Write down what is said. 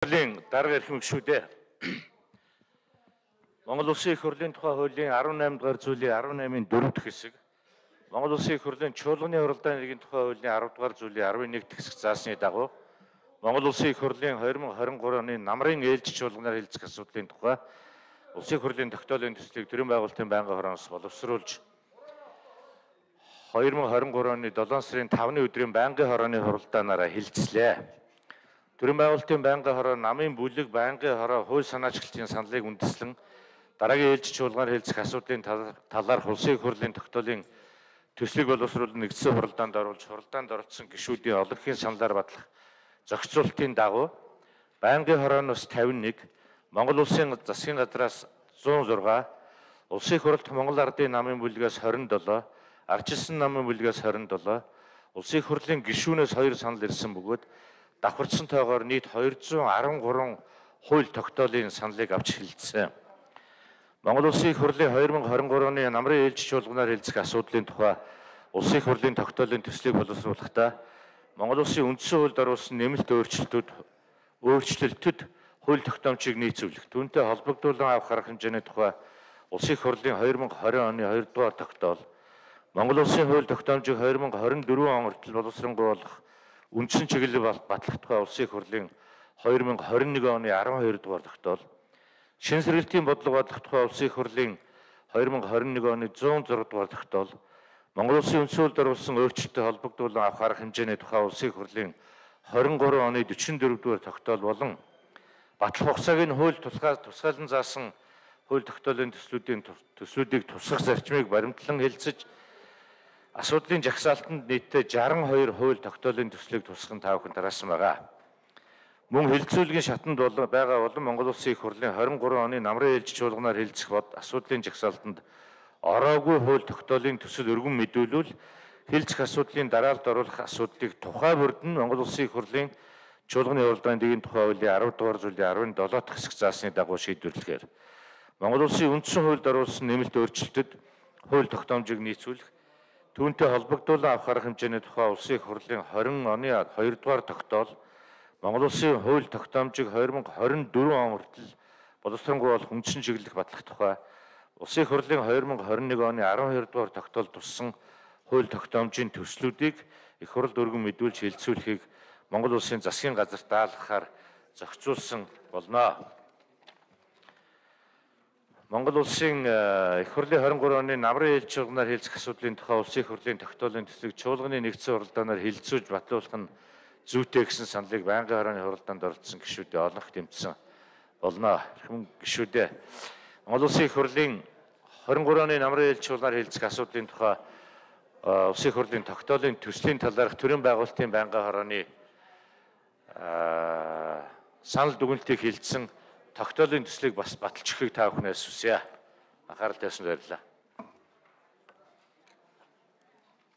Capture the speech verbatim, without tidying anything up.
Дарга ирэх шүү дээ. Монгол Улсын их хурлын тухай хуулийн арван наймд дугаар зүйлийн арван наймын дөрөв дэх хэсэг, Монгол Улсын их хурлын чуулганы хуралдааны нэгэн тухай хуулийн арав дугаар зүйлийн арван нэг дэх хэсэг заасны дагуу Монгол Улсын их хурлын хоёр мың хорин гурван оны намрын ээлж чуулганаар хэлцэх асуудлын тухай Улсын их хурлын тогтоолын төслийг төрийн байгуулалтын байнгын хороноос боловсруулж хоёр мың хорин гурван оны долоон сарын тавны өдрийн байнгын хорооны хуралдаанаараа хэлцлээ. Төрийн байгуулалтын байнгын хороо намын бүлэг байнгын хороо хууль санаачлагчдын саналыг үндэслэн дараагийн ээлж чуулганаар хэлцэх асуудлын талаар Улсын их хурлын тогтоолын төслийг боловсруулан нэгдсэн хуралдаанд оруулж хуралдаанд оролцсон гишүүдийн олонхын саналаар батлах зохицуултын дагуу байнгын хорооноос тавин нэг, Монгол Улсын засгийн газраас зуун зургаан, Улсын их хурлд Монгол Ардын намын бүлгээс хорин долоо, Ардчилсан намын бүлгээс хорин долоо, Улсын их хурлын гишүүнээс хоёр санал ирсэн бөгөөд давхарцсан тоогоор нийт хоёр зуун арван гурван хууль тогтоолын саналыг авч хэлэлцсэн. Монгол Улсын их хурлын хоёр мың хорин гурван оны намрын ээлж чуулганаар хэлцэх асуудлын тухай Улсын их хурлын тогтоолын төслийг боловсруулахдаа Монгол Улсын үндсэн хуульд оруулсан нэмэлт өөрчлөлтүүд өөрчлөлтөд хууль тогтоомжийг нийцүүлэх, түүнтэй холбогдуулан авах арга хэмжээний тухай Улсын их хурлын хоёр мың хорин оны хоёр дугаар тогтоол, Монгол Улсын хууль тогтоомжийг хоёр мың хорин дөрвөн он хүртэл боловсронгуйлах үндсэн чиглэлийг батлах тухай Улсын их хурлын хоёр мың хорин нэг оны арван хоёр дугаар тогтоол, шин сэргэлтийн бодлого батлах тухай Улсын их хурлын хоёр мың хорин нэг оны зуун зургаан дугаар тогтоол, Монгол Улсын үндсэн хуульд оруулсан өөрчлөлтөд холбогдуулан авах арга хэмжээний тухай Улсын их хурлын хорин гурван оны дөрвөн дөрөв дугаар тогтоол болон батлах хугацааг нь хууль тусгаалan заасан хууль тогтоолын төслүүдийн төслүүдийг тусгах зарчмыг баримтлан хэлцэж асуудлын жагсаалтанд нийтдээ жаран хоёр хууль тогтоолын төслийг тусган таавахын тараасан байгаа. Мөн хэлэлцүүлгийн шатанд байгаа болон Монгол Улсын их хурлын хорин гурван оны намрын ээлж чуулганаар хэлцэх бод асуудлын жагсаалтанд ороогүй хууль тогтоолын төсөл өргөн мэдүүлвэл хэлцэх асуудлын дараалд оруулах асуудлыг тухай бүрд нь Монгол Улсын их хурлын чуулганы хуралдааны нэгэн тухай хуулийн арав дугаар зүйлийн арван долоо дахь хэсэг заасны дагуу шийдвэрлэхээр Монгол Улсын үндсэн хуульд оруулсан нэмэлт өөрчлөлтөд хууль тогтоомжийг нийцүүлэх, түүнтэй холбогдуулан авах арга хэмжээний тухай Улсын их хурлын хорин оны хоёр дугаар тогтоол, Монгол Улсын хууль тогтоомжийг хоёр мың хорин дөрвөн он хүртэл боловсронгуйлах үндсэн чиглэлийг батлах тухай Улсын их хурлын хоёр мың хорин нэг оны арван хоёр дугаар тогтоол туссан хууль тогтоомжийн төслүүдийг их хурл өргөн мэдүүлж хэлэлцүүлэхийг Монгол Улсын засгийн газарт даалгахаар зохицуулсан болно. Монгол Улсын их хурлын хорин гурван оны намрын ээлж чуулганаар хэлцэх асуудлын тухай Улсын их хурлын тогтоолын төслийг чуулганы нэгдсэн хуралдаанаар хэлэлцүүлж батлуулах нь зүйтэй гэсэн саналыг байнгын хорооны хуралдаанд оролцсон гишүүдээ олонх тэмцсэн болно. Хүн гишүүдээ Монгол Улсын их хурлын хорин гурван оны намрын ээлж чуулганаар хэлцэх асуудлын тухай Улсын их хурлын тогтоолын төслийн талаарх төрийн байгуулалтын байнгын хорооны санал дүгнэлтийг хэлсэн тогтоолын төслийг бас баталж өгөхийг та бүхнээс хүсье. Анхаарал тавьсан баярлалаа.